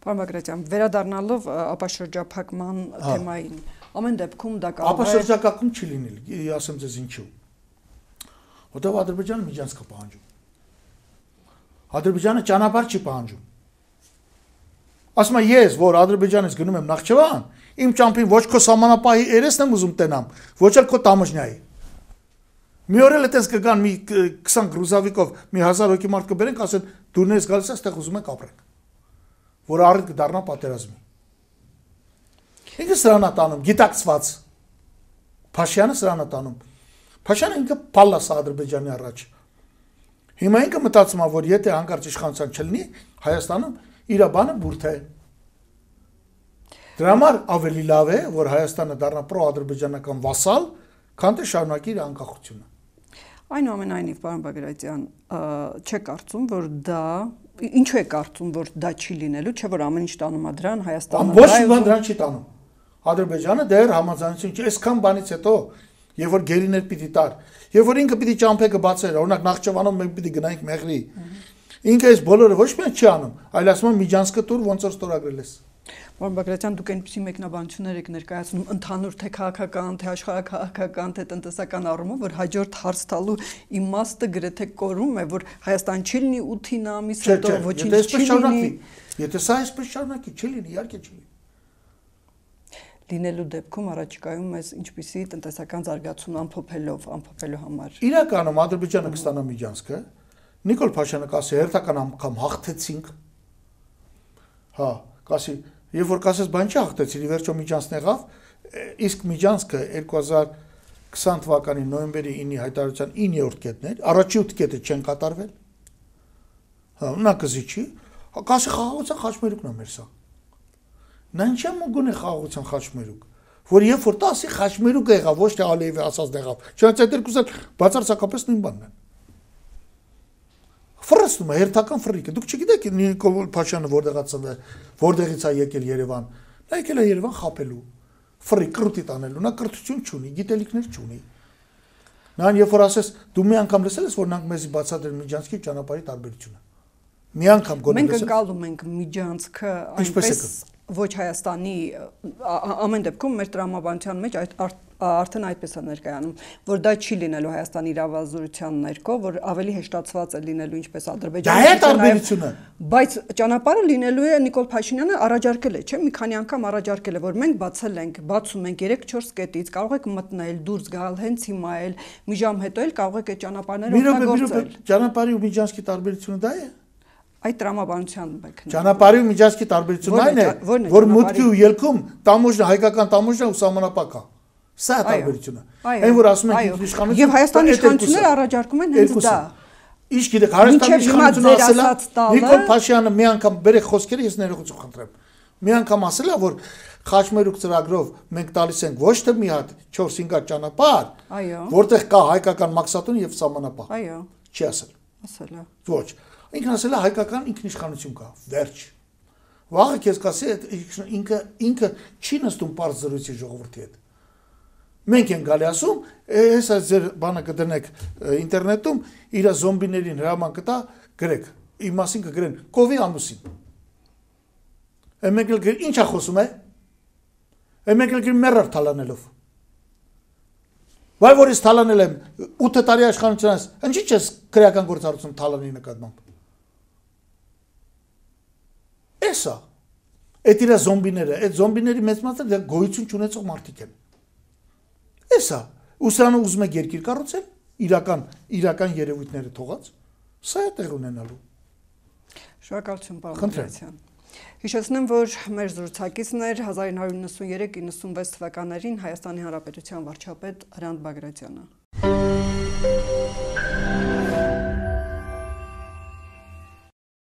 Պարոն Բագրատյան, վերադառնալով ապաշրջափակման թեմային, ամեն դեպքում դա կարող է ապաշրջակայքում չի լինել, ասեմ ձեզ ինչու։ Որտեղ Ադրբեջանը միջանցք է պահանջում։ Ադրբեջանը ճանապարհ չի պահանջում։ Ասում եմ ես, որ Ադրբեջանից գնում եմ Նախճեվան, իմ ճամփին ոչ քո սահմանապահի երեսն եմ ուզում տենամ, ոչ էլ քո տամոջնյայի։ Մի օր էլ այդպես կգան մի քսան գրուզավիկով մի հազար հոգի մարդ կբերենք, ասեն դու ներս գալիս ես, այդտեղ ուզում եք ապրենք։ Որ առիթ կդառնա պատերազմի։ Ինքը սրանա տանում, գիտակցված։ Փաշյանը սրանա տանում։ Փաշյանը ինքը փալլաս Ադրբեջանի առաջ։ Հիմա ինքը մտածում է, որ եթե հանկարծ իշխանության չլինի, Հայաստանում իր բանը բուրդ է։ Դրա համար ավելի լավ է, որ Հայաստանը դառնա պրո-ադրբեջանական վասալ, քան թե շարունակի իր անկախությունը։ Այնուամենայնիվ, պարոն Բագրատյան, չեք կարծում, որ դա ինչու է կարծում, որ դա չի լինելու, չէ՞ որ ամեն ինչ տանում է դրան, Հայաստանը։ Ոչ մի բան դրան չի տանում։ Ադրբեջանը դեռ համաձայնություն չի, այսքան բանից հետո, եւ որ գերիներ պիտի տար, եւ որ ինքը պիտի ճամփեքը բացեր, օրինակ Նախճեվանում մենք պիտի գնայինք Մեղրի։ Ինքը այս բոլորը ոչ միայն չի անում, այլ ասում է միջանցքը տուր ոնց որ ստորագրել ես։ Պարոն Բագրատյան, դուք այնպիսի մեկնաբանություններ եք ներկայացնում ընդհանուր թե քաղաքական, թե աշխարհակահաղական, թե տնտեսական առումով, որ հաջորդ հարց տալու իմաստը գրեթե կորում է, որ Հայաստան չի լինի ութ ամիս հետո ոչինչ չի լինի։ Եթե սա այսպես շարունակի, չի լինի, իհարկե չի լինի։ Լինելու դեպքում առաջիկայում մեզ ինչպիսի տնտեսական զարգացում ամփոփելով, ամփոփելու համար։ Իրականում Ադրբեջանը կստանա միջանցքը, Նիկոլ Փաշյանը կասի հերթական անգամ հաղթեցինք։ Հա, կասի, երբ որ կասես բան չի հաղթեցին, ի վերջո միջանցն եղավ, իսկ միջանցքը երկու հազար քսան թվականի նոյեմբերի ինի հայտարարության իններորդ կետն էր, առաջի ութ կետը չեն կատարվել։ Հա, նա կզիջի, կասի խաղաղության խաչմերուկն է մեր սա։ Նա ինչ է մոգուն է խաղաղության խաչմերուկ, որ երբ որ տասի խաչմերուկ եղավ, ոչ թե Ալիևի ասած եղավ, չնայած այդ երկուսը բացարձակապես նույն բանն են։ Ֆրստում է հերթական ֆրիկը, դուք չգիտեք Նիկոլ Փաշյանը որտեղից է, որտեղից է եկել Երևան, նա եկել է Երևան խապելու, ֆրիկ կրուտի տանելու, նա կրթություն չունի, գիտելիքներ չունի։ Նրան երբ որ ասես, դու մի անգամ լսել ես, որ նրանք մեզի բացատրեն միջանցքի ճանապարհի տարբերությունը։ Մի անգամ գոնե մենք ընկալում ենք միջանցքը այնպես ոչ Հայաստանի ամեն դեպքում մեր տրամաբանության մեջ արդեն այդպես է ներկայանում, որ դա չի լինելու Հայաստանի իրավազորության ներքո, որ ավելի հեշտացված է լինելու ինչպես Ադրբեջանը, դա է տարբերությունը։ Բայց ճանապարհը լինելու է Նիկոլ Փաշինյանը առաջարկել է, չէ՞, մի քանի անգամ առաջարկել է, որ մենք բացել ենք, բացում ենք երեք չորս կետից, կարող եք մտնել, դուրս գալ, հենց հիմա էլ, մի ժամ հետո էլ կարող եք այդ ճանապարհները օգտագործել։ Ճանապարհի ու միջանցքի տարբերությունը դա է։ Այդ տրամաբանության մեկն է։ Ճանապարհի ու միջազգի տարբերությունն այն է, որ մուտքի ու ելքում տամոժնը հայկական տամոժնը ու սահմանապակ է։ Սա է տարբերությունը։ Այն որ ասում են ինքնիշխանություն եւ Հայաստանի իշխանությունները առաջարկում են հենց դա։ Իսկ գիտեք, Հայաստանի իշխանությունը ասել է, Նիկոլ Փաշինյանը մի անգամ բերեք խոսքերը, ես ներողություն խնդրեմ։ Մի անգամ ասել է, որ Խաչմերուկ ծրագրով մենք տալիս ենք ոչ թե մի հատ չորս-հինգ հատ ճանապարհ, որտեղ կա հայկական մաքսատուն եւ սահմանապահ։ Այո։ Չի ասել։ Ասել է։ Ոչ։ Ինքն ասել է հայկական ինքնիշխանություն կա, վերջ։ Վաղը քեզ կասի ինքը ինքը չի նստում པարզ զրույցի ժողովրդի հետ։ Մենք ենք գալի ասում, հեսա ձեր բանը կդնեք ինտերնետում, իր զոմբիներին հրաման կտա, գրեք, իմ մասին կգրեն կովի ամուսին։ Մենք էլ գրենք, ի՞նչ է խոսում է։ Մենք էլ գրենք մեռար թալանելով։ Վայ որ ես թալանել եմ ութ տարի աշխատանքից, ինչի՞ չես քրեական գործառույթում թալանի նկատմամբ։ Էսա։ Այդ իր զոմբիները, այդ զոմբիների մեծ մասը դա գոյություն չունեցող մարդիկ են։ Էսա, ուսանը ուզում եք երկիր կառուցել, իրական իրական երևույթները թողած, սա է տեղ ունենալու։ Շնորհակալություն, պարոն Բագրատյան։ Հիշեցնեմ, որ մեր զրուցակիցն էր հազար ինը հարյուր նվսանուերեք նվսանվեց թվականներին Հայաստանի Հանրապետության վարչապետ Հրանտ Բագրատյանը։